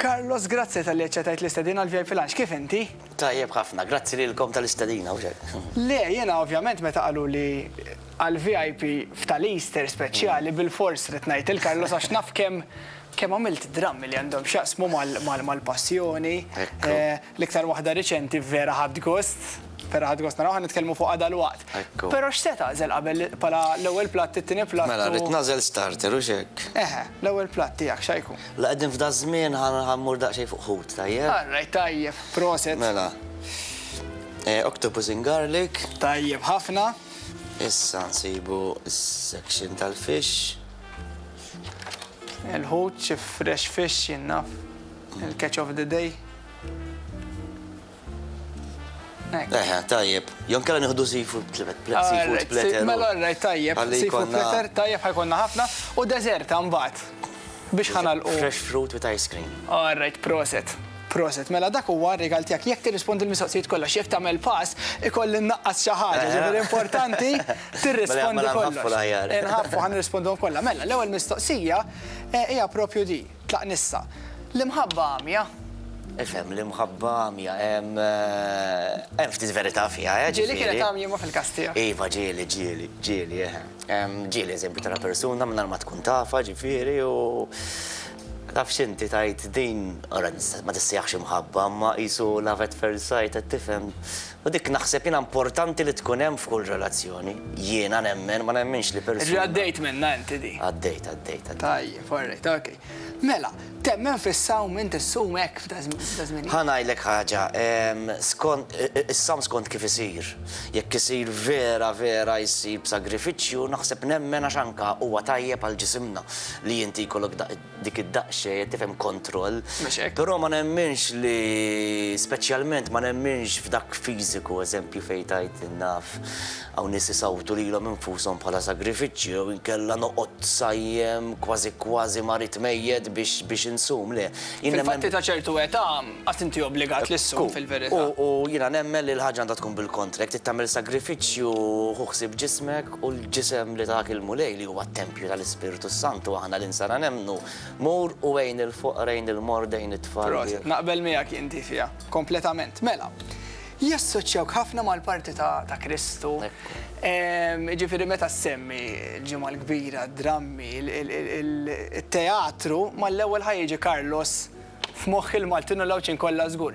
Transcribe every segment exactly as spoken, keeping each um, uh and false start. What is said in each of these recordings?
Carlos, grazzi talli aċċettajt l-istedina għal V I P Lunch. Kif inti? Tajjeb ħafna, grazzi lilkom tal-istedina, u hekk. Le, jena ovvjament meta qalu li għal V I P f'tal-Easter speċjali bil-fors ridt ngħid lil Carlos għax naf kemm kemm għamilt drammi li għandhom x'jaqsmu mal-passjoni. Ekku. Eh, L-iktar waħda riċenti vera ħadt gost, vera ħadt gost naraw, ħa nitkellmu fuq dalwaqt. Ekku. Però x'se tagħżel qabel bħala l-ewwel platt, it-tieni platt? Mela, u- rrid nagħżel starter, u hekk. Eħe, l-ewwel platt tiegħek x'ħa jkun? La qegħdin f'da żmien ħa mmur daqsxejn fuq ħut, tajjeb? Alright, tajjeb, proset. Mela. Eh, Octopus in garlic. Tajjeb ħafna. Issa nsibu s-section tal-fish. Il-ħut, xi fresh fish jien naf. Il-catch of the day. Hekk. Eħe, tajjeb. Jew inkella nieħdu seafood seafood Alright, platter. Mela, alright, tajjeb. Ħalli Seafood jkollna platter, tajjeb, ħa jkollna ħafna. U dessert mbagħad. Biex ħa nagħlqu. Fresh fruit with ice cream. Alright, proset. Proset, mela dak huwa r-rigal tiegħek. Jekk tirrispondi l-mistoqsijiet kollha, jekk tagħmel pass, ikolli nnaqqas xi ħaġa. Ġifieri importanti tirrispondi Mela, mela kollox. nħaffu l-aħjar. Nħaffu, ħa nirrispondhom kollha. Mela, l-ewwel mistoqsija eh, hija propju di, tlaq nissa. L-imħabba għamja. Ifhem, l-imħabba għamja, hemm eh, hemm ftit verità fiha, eh, Ġieli ġifieri. kienet għamja ma fil-każ tiegħek. Iva, ġieli, ġieli, ġieli, eħe. Em, Ġieli, eżempju, tara persuna minn ma tkun tafha, ġifieri, u taf x'inti tajt din, ora nista- ma tissejjaħx imħabba, ma qisu love at first sight, qed tifhem. U dik naħseb jiena importanti li tkun hemm f'kull relazzjoni. Jiena nemmen, ma nemmenx li Ġi persuna. għaddejt minna inti di. Għaddejt, għaddejt, għaddejt. Tajjeb, alright, ok. Mela, temmen fis-sawm, inti ssum hekk f'da żmien? Ħa ngħidlek ħaġa, em, skont, is-sawm skont kif isir. Jekk isir vera, vera jsir b'sagrifiċċju, naħseb nemmen għax anka huwa tajjeb għal ġisimna li inti jkollok da- dik id-daqsxejn tifhem kontroll. Mhux hekk. Però ma nemminx li speċjalment ma nemminx f'dak fiżiku, eżempju fejn tajt naf hawn nies isawtu lilhom infushom bħala sagrifiċċju jew inkella noqgħod sajjem kważi kważi marid mejjet biex biex insum, le. Jien nemmen- Fil-fatti ta' ċertu età, għax inti obbligat li ssum fil-verità. U u jiena nemmen li l-ħaġa għandha tkun bil-kontra, jekk tagħmel sagrifiċċju ħu ħsieb ġismek u l-ġisem li tak il-Mulej li huwa t-tempju tal-Ispirtu Santu aħna l-insara nemmnu. Mur u għin il-foqra, għin il-morda, għin it-tfal. Proset, naqbel miegħek inti fiha, kompletament. Mela, jassoċjawk ħafna mal-parti ta' ta' Kristu. Ekku. Em, Ġifieri meta semmi l-Ġimgħa l-Kbira, drammi, il-teatru, mal-ewwel ħa jiġi Carlos f'moħħ il-Maltin u l-Għawdxin kollha żgur.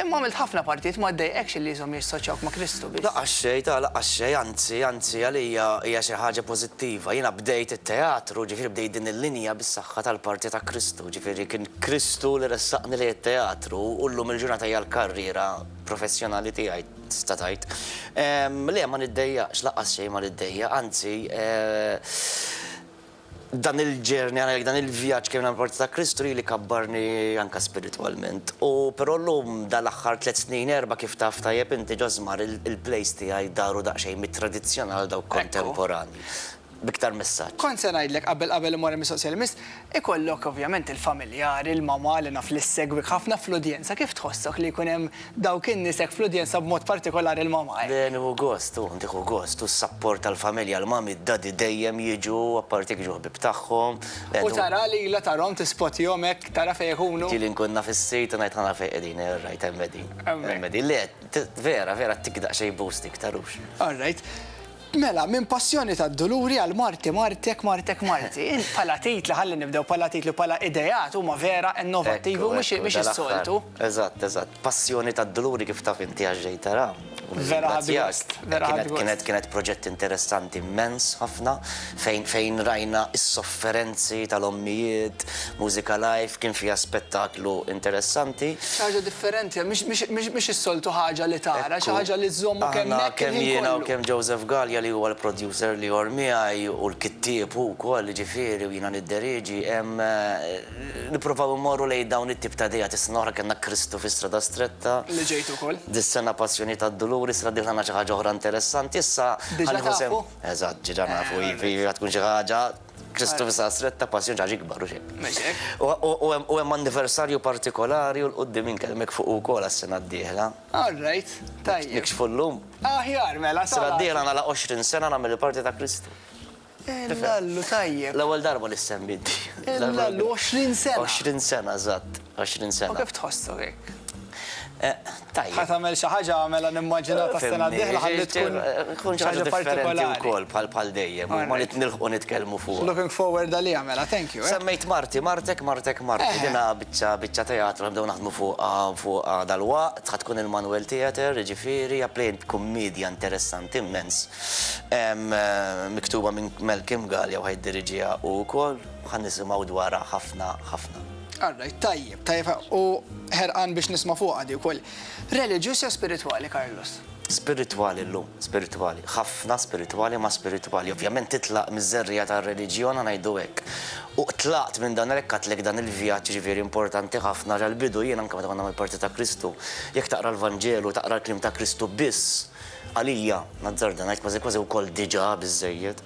Imma għamilt ħafna partijiet, ma ddejqekx li jisom jassoċjawk ma' Kristu biss? Lanqas xejn, ta' lanqas xejn, anzi, anzi, għalija hija xi ħaġa pożittiva. Jiena bdejt it-teatru, ġifieri bdejt din il-linja bis-saħħa tal-parti ta' Kristu, ġifieri kien Kristu li ressaqni li t-teatru u llum il-ġurnata hija l-karriera professjonali tiegħi tista' tgħid. Em, Le, ma niddejjaqx, lanqas xejn ma niddejjaq, anzi, eh, dan il-journey, għana dan il-vjaġġ kemm parti ta' Kristu li kabbarni anka spiritualment. U però llum dal-aħħar tliet snin, erba, kif taf tajjeb inti ġożmar, il-plays tiegħi daru daqsxejn mit-tradizzjonal dawk kontemporani. B'iktar messaġġ. Kont se ngħidlek qabel qabel imur mistoqsija li miss, ikollok ovvjament il-familjari, il-mama li naf li ssegwik ħafna fl-udjenza. Kif tħossok li jkun hemm dawk in-nies hekk fl-udjenza, b'mod partikolari il-mama, eh? Le, nieħu gost, u nieħu gost, u s-support tal-familja, l-mami, d-daddy dejjem jiġu, apparti jiġu ħbib tagħhom. Le, U tara li la tarhom tispotjhom hekk, tara fejn ikunu. Ġieli nkun naf is-sit u ngħid ħana fejn qegħdin, rajt hemm qegħdin. Hemmhekk. Hemm qegħdin. Le, t- vera, vera tik daqsxejn boost iktarux. All right. Mela, minn Passjoni ta' Duluri għal Marti, Martek, Martek, Marti. Int bħala titli, ħalli nibdew bħala titli, bħala ideat huma vera innovattivi u mhux Ekku, mhux dal-aħħar. is-soltu. Eżatt, eżatt. Passjoni ta' Duluri kif taf inti għax ġej tara. U Vera ħadd nirringrazzjak. gost, vera ħadd Kienet gost. kienet kienet proġett interessanti immens ħafna fejn fejn rajna is-sofferenzi tal-ommijiet, mużika live, kien fiha spettaklu interessanti. Xi ħaġa differenti, mhix- mhix mhix is-soltu ħaġa li tara, xi ħaġa li żommu kemm Aħna hekk kemm il-ħin jiena u kollu. kemm Joseph Gallia li huwa l-producer li jor miegħi u l-kittieb hu wkoll, ġifieri u jiena nidderieġi, hemm eh, nippruvaw immorru lejn dawn it-tip ta' idea. Is-sena oħra kellna Kristu fi Strada Stretta. Li ġejtu ukoll. Dis-sena Passjoni tad-Duluri, sena dieħla xi ħaġa oħra interessanti. Issa Diġà ħa nieħu sem- tafu? Eżatt, diġà nafu, iva, tkun xi ħaġa Kristu fi Strada Stretta, Passjoni ħaġa ikbar u xejn. Mhux hekk? U- U u hemm- u hemm anniversarju partikolari u 'l quddiem inkellmek fuq ukoll għas-sena d-dieħla. All right, tajjeb. Nikxfu llum. Aħjar, mela, Sena sala. d-dieħla nagħlaq għoxrin sena nagħmel il-parti ta' Kristu. Illallu, tajjeb. L-ewwel darba li semmit. Illallu, għoxrin sena. għoxrin sena, eżatt, għoxrin U sena. kif tħossok hekk? Eh, Tajjeb. Ħa tagħmel xi ħaġa, mela nimmaġina tas-sena d-dieħla ħalli tkun tkun xi ħaġa differenti partikolari. wkoll bħal bħal dejjem, u ma nilħqu nitkellmu fuq. Looking forward għalija mela, thank you. eh. Semmejt Marti, Martek, Martek, Marti. Eh. Dina biċċa biċċa teatru nibdew naħdmu fuq fuq dal-waqt, ħa tkun il-Manuel Theatre, ġifieri, play kummedja interessanti immens. Em, eh, Miktuba minn Malcolm Galea u ħa jiddiriġiha u wkoll ħa nisimgħu dwarha ħafna ħafna. Alright, tajjeb, tajjeb, u ħerqan biex nisma' fuq għadi wkoll. Reliġjuż jew spiritwali, Carlos? Spiritwali llum, spiritwali, ħafna spiritwali ma spiritwali. Ovvjament titlaq miż-żerriegħa tar-reliġjon, ngħidu hekk. U tlaqt minn dan hekk għedtlek dan il-vjaġġ, ġifieri importanti ħafna għal-bidu jien anke meta konna mal-Parti ta' Kristu. Jekk taqra l-Vanġelu, taqra l-kliem ta' Kristu biss, għalija, nazzarda ngħid kważi kważi wkoll diġà biżejjed.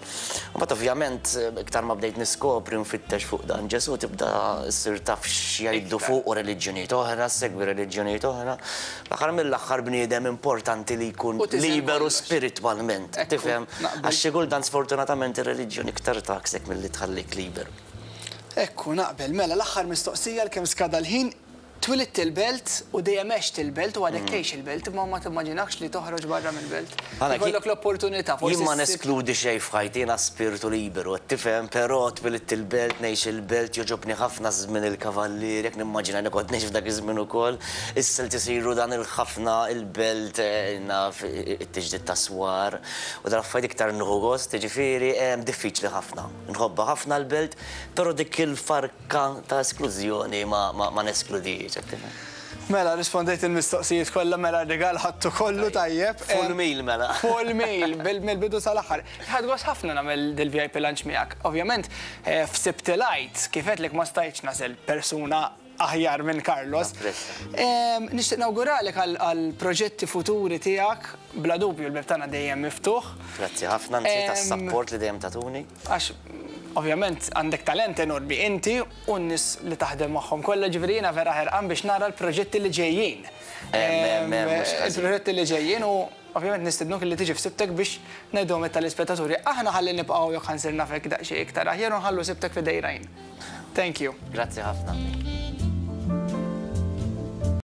U mbagħad ovvjament iktar ma bdejt niskopri nfittex fuq dan Ġesu, tibda ssir taf x'jgħidu fuq u reliġjonijiet oħra, segwi reliġjonijiet oħra. L-aħħar mill-aħħar bniedem importanti li jkun U tiżen liberu kollox. spiritwalment, Ekku, tifhem? naqbel. Għax xi kultant sfortunatament ir-reliġjoni iktar taksek milli tħallik liberu. Ekku, naqbel, mela l-aħħar mistoqsija l-kemm skada l-ħin. Twilidt il-Belt u dejjem għext il-Belt u għadek tgħix il-Belt, imma ma timmaġinakx li toħroġ barra mill-Belt. Għana, Ikollok l-opportunità, forsi Jien ma ssib- neskludi xejn f'ħajti, jiena spiritu liberu, tifhem, però twilidt il-Belt, ngħix il-Belt, jogħġobni ħafna żmien il-kavallier, jekk nimmaġina li kont ngħix f'dak iż-żmien ukoll, issa li tisiru dan il-ħafna il-Belt, eh, naf it-tiġdid ta' swar, u dal affarijiet iktar nieħu gost, ġifieri em, diffiċli ħafna. Nħobbha ħafna l-Belt, però dik il-farka ta' esklużjoni ma, ma, ma neskludix, tifhem. Mela, rispondejt il-mistoqsijiet kollha, mela r-rigal ħadtu kollu, tajjeb. Full Em, meal mela. Full meal, bil-bidu sal-aħħar. Ħadt gost ħafna nagħmel dil-V I P lunch miegħek. Ovvjament, eh, f'Sibt il-Għid, kif għedtlek, ma stajtx nagħżel persuna aħjar minn Carlos. Napprezza. Em, Nixtieq nawguralek għal proġetti futuri tiegħek, bla dubju l-bib tagħna dejjem miftuħ. Grazzi ħafna, anzi Em, tas-support li dejjem tatuni. Għax ovvjament għandek talent enormi inti u n-nies li taħdem magħhom kollha, ġifieri jiena vera ħerqan biex nara l-proġetti li ġejjin. Em, em, em, mhux ħażin. Il-proġetti li ġejjin u ovvjament nistednuk li tiġi f'Sibtek biex ngħidhom tal-ispettaturi. Aħna ħalli nibqgħu jekk ħa nsir nafek daqsxejn iktar aħjar u nħallu Sibtek f'idejn. Thank you. Grazzi ħafna.